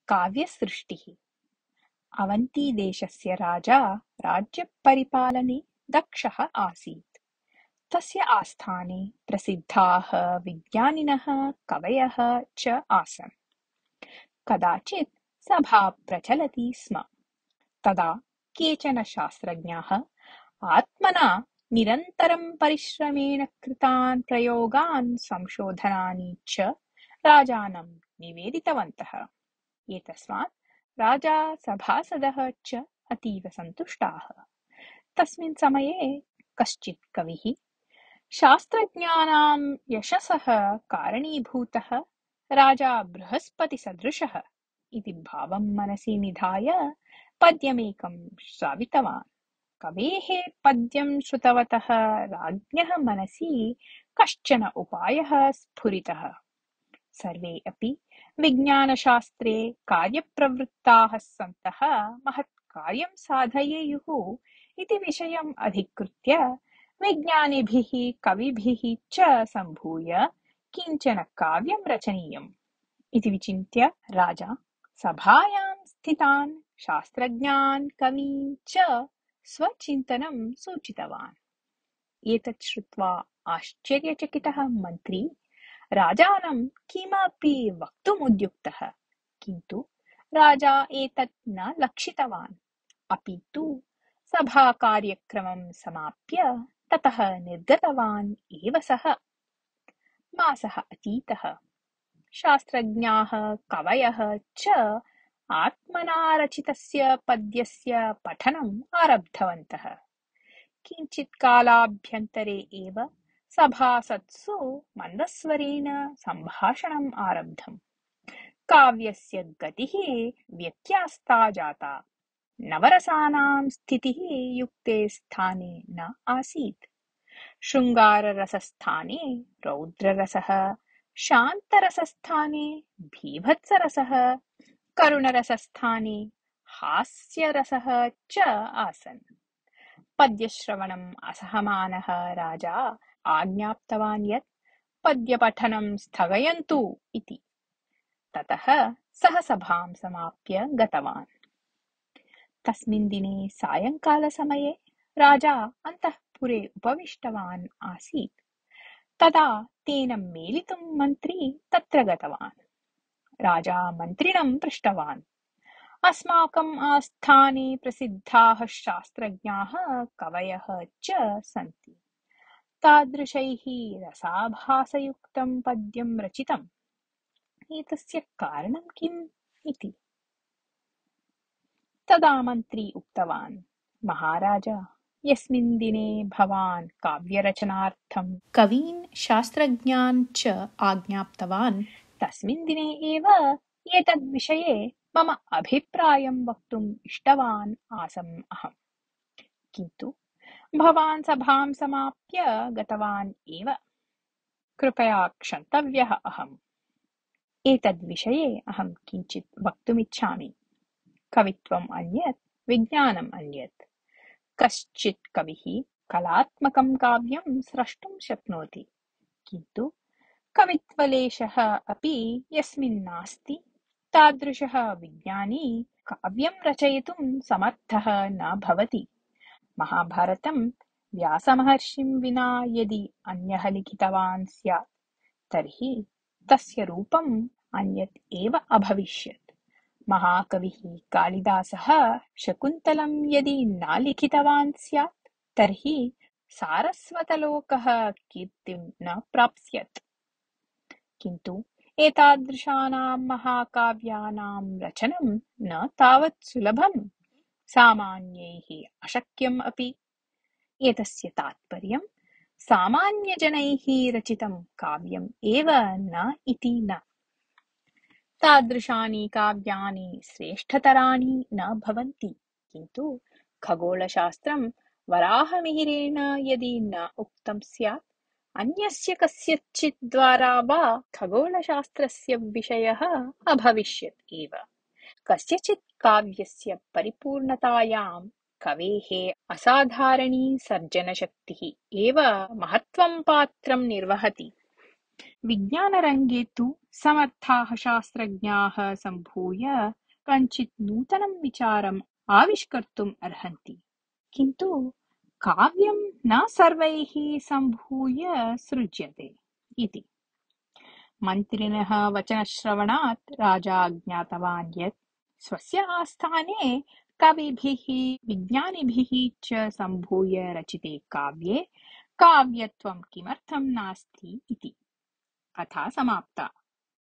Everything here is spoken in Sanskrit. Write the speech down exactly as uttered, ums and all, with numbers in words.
काव्यसृष्टिः। अवन्तीदेशस्य राजा राज्यपरिपालने दक्षः आसीत्। तस्य आस्थाने प्रसिद्धाः विज्ञानिनः कवयः च आसन्। कदाचित् सभा प्रचलति स्म। तदा केचन शास्त्रज्ञाः आत्मना निरन्तरं परिश्रमेण कृतान् प्रयोगान् संशोधनानि च राजानं निवेदितवन्तः। एतस्मात् राजा सभासदः च अतीव सन्तुष्टाः। तस्मिन् समये कश्चित् कविः शास्त्रज्ञानां यशसः कारणीभूतः राजा बृहस्पतिसदृशः इति भावं मनसि निधाय पद्यमेकं श्रावितवान्। कवेः पद्यं श्रुतवतः राज्ञः मनसि कश्चन उपायः स्फुरितः। सर्वे अपि विज्ञानशास्त्रे कार्यप्रवृत्ताः सन्तः महत् कार्यं साधयेयुः इति विषयम् अधिकृत्य विज्ञानिभिः कविभिः च सम्भूय किञ्चन काव्यं रचनीयम् इति विचिन्त्य राजा सभायां स्थितान् शास्त्रज्ञान् कवीन् च स्वचिन्तनं सूचितवान्। एतत् श्रुत्वा आश्चर्यचकितः मन्त्री राजानं किमपि वक्तुमुद्युक्तः, किन्तु राजा एतत् न लक्षितवान्। अपि तु सभाकार्यक्रमं समाप्य ततः निर्गतवान् एव सः। मासः अतीतः। शास्त्रज्ञाः कवयः च आत्मना रचितस्य पद्यस्य पठनम् आरब्धवन्तः। किञ्चित् कालाभ्यन्तरे एव सभासत्सु मन्दस्वरेण सम्भाषणम् आरब्धम्। काव्यस्य गतिः व्यत्यास्ता जाता। नवरसानां स्थितिः युक्ते स्थाने न आसीत्। शृङ्गाररसस्थाने रौद्ररसः, शान्तरसस्थाने भीभत्सरसः, करुणरसस्थाने हास्यरसः च आसन्। पद्यश्रवणम् असहमानः राजा आज्ञाप्तवान् यत् पद्यपठनं स्थगयन्तु इति। ततः सः सभां समाप्य गतवान्। तस्मिन् दिने सायंकालसमये राजा अन्तःपुरे उपविष्टवान् आसीत्। तदा तेन मेलितुं मन्त्री तत्र गतवान्। राजा मन्त्रिणं पृष्टवान्, अस्माकम् आस्थाने प्रसिद्धाः शास्त्रज्ञाः कवयः च सन्ति। तादृशैः रसाभासयुक्तं पद्यं रचितम्। एतस्य कारणं किम् इति। तदा मन्त्री उक्तवान्, महाराज, यस्मिन् दिने भवान् काव्यरचनार्थं कवीन् शास्त्रज्ञान् च आज्ञाप्तवान् तस्मिन् दिने एव एतद्विषये मम अभिप्रायं वक्तुम् इष्टवान् आसम् अहम्। किन्तु भवान् सभां समाप्य गतवान् एव। कृपया क्षन्तव्यः अहम्। एतद्विषये अहं किञ्चित् वक्तुमिच्छामि। कवित्वम् अन्यत्, विज्ञानम् अन्यत्। कश्चित् कविः कलात्मकं काव्यं स्रष्टुं शक्नोति, किन्तु कवित्वलेशः अपि यस्मिन् नास्ति तादृशः विज्ञानी काव्यं रचयितुं समर्थः न भवति। महाभारतं व्यासमहर्षिं विना यदि अन्यः लिखितवान् स्यात् तर्हि तस्य रूपम् अन्यत् एव अभविष्यत्। महाकविः कालिदासः शकुन्तलं यदि न लिखितवान् स्यात् तर्हि सारस्वतलोकः कीर्तिं न प्राप्स्यत्। किन्तु एतादृशानां महाकाव्यानां रचनं न तावत् सुलभम्, सामान्यैः अशक्यम् अपि। एतस्य तात्पर्यं सामान्यजनैः रचितं काव्यम् एव न इति न। तादृशानि काव्यानि श्रेष्ठतराणि न भवन्ति, किन्तु खगोलशास्त्रं वराहमिहिरेण यदि न उक्तं स्यात्, अन्यस्य कस्यचित् द्वारा वा खगोलशास्त्रस्य विषयः अभविष्यत् एव। कस्यचित् काव्यस्य परिपूर्णतायां कवेः असाधारणी सर्जनशक्तिः एव महत्त्वं पात्रं निर्वहति। विज्ञानरङ्गे तु समर्थाः शास्त्रज्ञाः सम्भूय कञ्चित् नूतनं विचारम् आविष्कर्तुम् अर्हन्ति, किन्तु काव्यं न सर्वैः सम्भूय सृज्यते इति। मन्त्रिणः वचनश्रवणात् राजा ज्ञातवान् यत् स्वस्य आस्थाने कविभिः विज्ञानिभिः च सम्भूय रचिते काव्ये काव्यत्वं किमर्थं नास्ति इति। कथा समाप्ता।